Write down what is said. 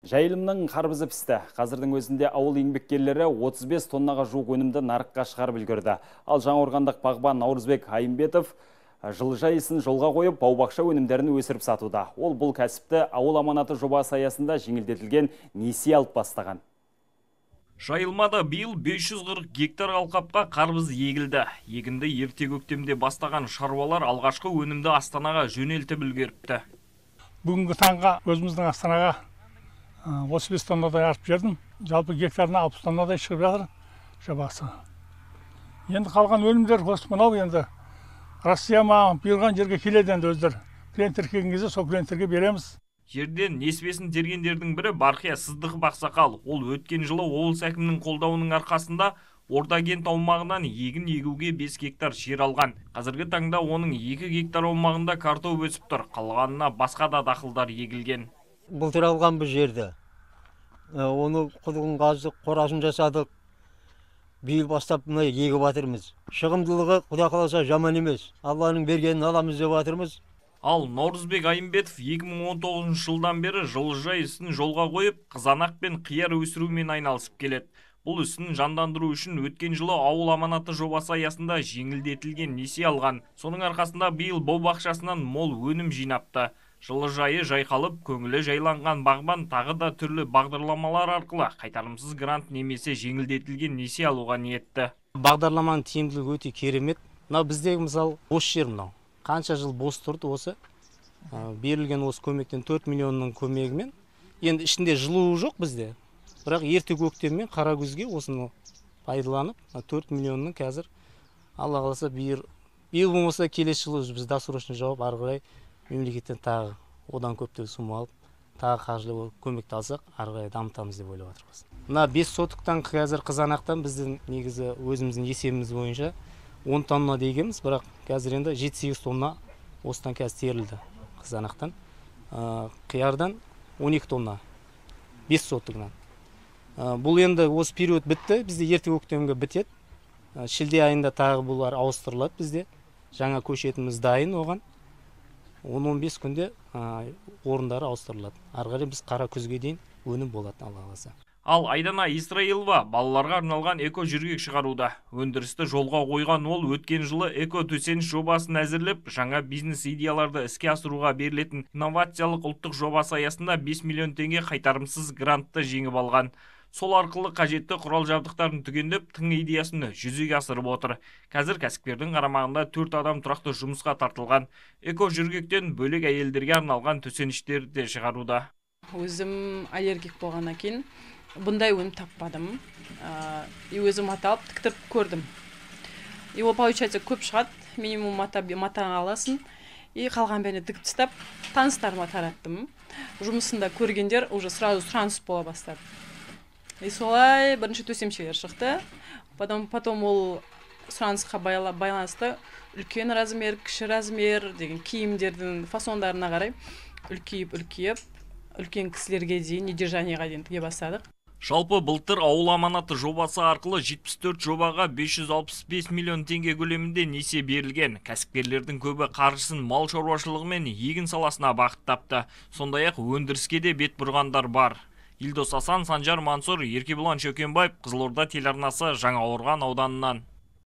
Жайылымның қарбызы пісті. Қазірдің өзінде ауыл еңбеккерлері 35 тоннаға жуық өнімді нарыққа шығарып үлгерді. Ал Жаңақорғандық бағбан Наурызбек Айымбетов жылыжай ісін жолға қойып, бау-бақша өнімдерін өсіріп сатуда. Ол бұл кәсіпті ауыл аманаты жобасы аясында жеңілдетілген несие алып бастаған. Жайылмада биыл 540 гектар алқапқа қарбыз егілді. Егінді ерте көктемде бастаған шаруалар алғашқы өнімді Астанаға жөнелтіп үлгеріпті. Бүгінгі таңға өзіміздің Астанаға 35 тоннадай артып жердім. Жалпы гектарына 60 тоннадай шығып жатыр жобасы. Енді қалған өнімдер осы мынау енді Россия маған бұйырған жерге келеді енді өздері. Клиенттер келген кезде сол клиенттерге береміз. Жерден несібесін тергендердің бірі Барқия Сыздықов Ақсақал. Ол өткен жылы облыс әкімінің қолдауының арқасында Ордакент аумағынан егін егуге 5 гектар жер алған. Қазіргі таңда оның 2 гектар аумағында картоп өсіп тұр. Қалғанына басқа да дақылдар егілген. Былтыр алған бұл жерді. Оны құдығын қаздық, қорасын жасадық. Биыл бастап мына егіп жатырмыз. Шығымдылығы Құда қаласа жаман емес. Алланың бергенін аламыз деп жатырмыз. Ал Наурызбек Айымбетов 2019 жылдан бері жылыжай ісін жолға қойып, қызанақ пен қияр өсірумен айналысып келеді. Бұл ісін жандандыру үшін өткен жылы ауыл аманаты жобасы аясында жеңілдетілген несие алған. Соның арқасында биыл бау-бақшасынан мол өнім жинапты. Жылыжайы жайқалып, көңілі жайланған бағбан тағы да түрлі бағдарламалар арқылы қайтарымсыз грант немесе жеңілдетілген несие алуға ниетті. Бағдарламаның тиімділігі өте керемет. Мынау біздегі мысалы бос жер мынау. Қанша жыл бос тұрды осы. Берілген осы көмектен 4 миллионның көмегімен. Енді ішінде жылуы жоқ бізде. Бірақ ерте көктеммен қара күзге осыны пайдаланып, 4 миллионның қазір Алла қаласа биыл болмаса келесі жылы біз досрочный жауап ары қарай мемлекеттен тағы одан көптеп сума алып, тағы қаржылай көмекті алсақ, ары қарай дамытамыз деп ойлап отырмыз. Мына 5 сотықтан қазір қызанақтан біздің негізі өзіміздің есебіміз бойынша 10 тонна дегенбіз, бірақ қазір енді 7-8 тонна осыдан қазір терілді қызанақтан. Қиярдан 12 тонна 5 сотығынан. Бұл енді осы период бітті, бізде ерте көктемге бітеді. Шілде айында тағы бұлар ауыстырылады бізде. Жаңа көшетіміз дайын оған. 10-15 күнде орындары ауыстырылады. Ары қарай біз қара күзге дейін өнім болады Алла қаласа. Ал Айдана Исраилова балаларға арналған эко жүргек шығаруда. Өндірісті жолға қойған ол өткен жылы эко төсеніш жобасын әзірлеп, жаңа бизнес идеяларды іске асыруға берілетін инновациялық ұлттық жобасы аясында 5 миллион теңге қайтарымсыз грантты жеңіп алған. Сол арқылы қажетті құрал жабдықтарын түгендеп, тың идеясын жүзеге асырып отыр. Қазір кәсіпкердің қарамағында 4 адам тұрақты жұмысқа тартылған. Эко жүргектен бөлек әйелдерге арналған төсеніштерді де шығаруда. Өзім аллергик болғаннан кейін бұндай өнім таппадым. Өзім аталып тіктіріп көрдім. Ол получается көп шығады, минимум матаға аласың. Қалған бәріне тігіп тастап, таныстарыма тараттым. Жұмысында көргендер уже сразу сұраныс бола бастады. Солай бірінші төсемшелер шықты. Потом ол сұранысқа байланысты үлкен размер, кіші размер деген киімдердің фасондарына қарай үлкейіп, үлкен кісілерге дейін, недержанияға дейін тіге бастадық. Жалпы былтыр ауыл аманаты жобасы арқылы 74 жобаға 565 миллион теңге көлемінде несие берілген. Кәсіпкерлердің көбі қаржысын мал шаруашылығы мен егін саласына бағыттапты. Сондай-ақ өндіріске де бет бұрғандар бар. Илдос Асан, Санжар Мансур, Еркебұлан Шөкенбаев, Қызылорда телеарнасы, Жаңақорған ауданынан.